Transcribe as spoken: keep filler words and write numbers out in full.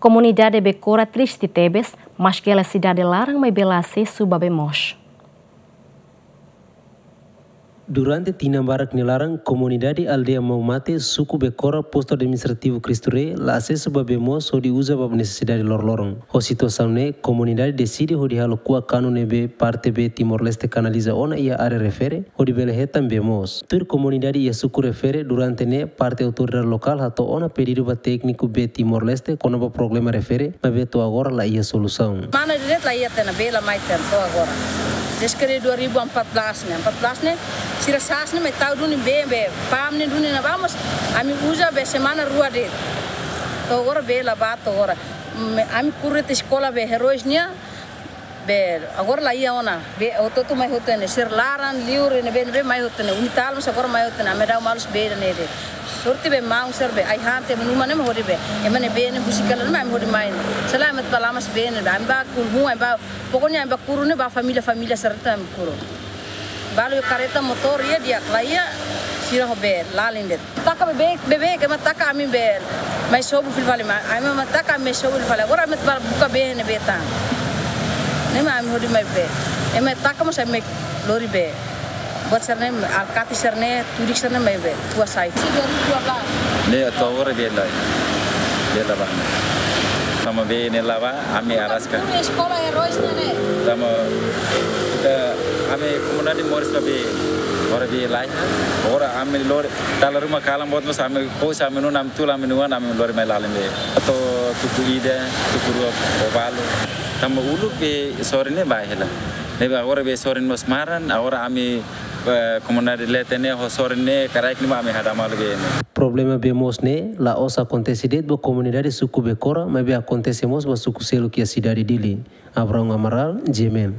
Komunidade Bekora triste tebes, maske hela sidade laran maibé la asesu ba bee moos. Durante tinan barak nia laran, komunidade aldeia Maumate, suku Bekora, postu administrativu Cristo Rei, la asesu ba bee moos hodi uza ba nesesidade loroloron. Ho situasaun ne'e, komunidade deside hodi halo kuak kanu ne'ebé parte bee Timor-Leste kanaliza ona iha área refere, hodi bele hetan bee moos. Tuir komunidade iha suku refere, durante ne'e parte autoridade lokál hato'o ona pedidu ba tékniku bee Timor-Leste kona-ba problema refere, maibé to'o agora la iha solusaun. Mana diretu la iha tiha ona, bee la mai tiha ona to'o agora. Desde dua ribu empat belas ne'e, empat belas ne'e, sira sa'e ne'e mai tau duni bee, bee, pam ne'e duni ne'ebá mós, ami uza bee semana rua de'it. To'o agora bee la bá to'o agora. Mm, ami kuru tiha eskola bee Heróis nian, bee, agora la iha ona. Bee, hotu-hotu mai hotu ne'e, sira laran, liur, ne'ebé, ne'ebé mai hotu ne'e. UNITAL mós agora mai hotu ne'e. Ami dau malus bee ne'e de'it. Sorte bee maun sira bee, ai-han tiha ami-nia uma ne'e mak hodi bee. Ema ne'e bee ne'e busikela ne'e mak ami hodi mai ne'e. Selae ami atu bá lamas bee ne'e, ami bá kuru, ami bá, pokoknya ami bá kuru ne'e bá família-família sira atu ami kuru. Balu iha kareta motór iha di'ak, la iha sira ho bee, lalin de'it. Taka beibeik, beibeik, ema taka ami bee mai sobu fila fali mai. Ami ema taka ami mai sobu fila fali. Agora ami atu bá buka bee ne'ebé tan. Ne'e mak ami hodi mai bee. Ema taka mós ami mai lori bee. Buat sira-ne'e, alkati sira-ne'e, tudik sira-ne'e mai bee. Kuak sai. Ne'e to'o agora bee la, bee la bá. Tanba bee ne'e la bá, ami araska. Kuru eskola Heróis ne'e. Tanba, eh, ami komunidade moris ba bee, agora bee la iha. Agora ami lori, dala ruma kalan boot mós ami kous, ami nunus, ami tulun, ami na'an, ami lori mai lalin bee. To'o tuku ida, tuku rua, ho balu. Tanba uluk bee sorin ne'e bá hela. Ne'ebé agora bee sorin mós maran, agora ami, eh, komunidade Leten ne'e ho sorin ne'e, karaik ne'e mak ami hadau malu bee ne'e. Problema bee moos ne'e la'ós akontese de'it ba komunidade suku Bekora, maibé akontese mós ba suku seluk iha sidade Dili. Abraão Amaral, G M N.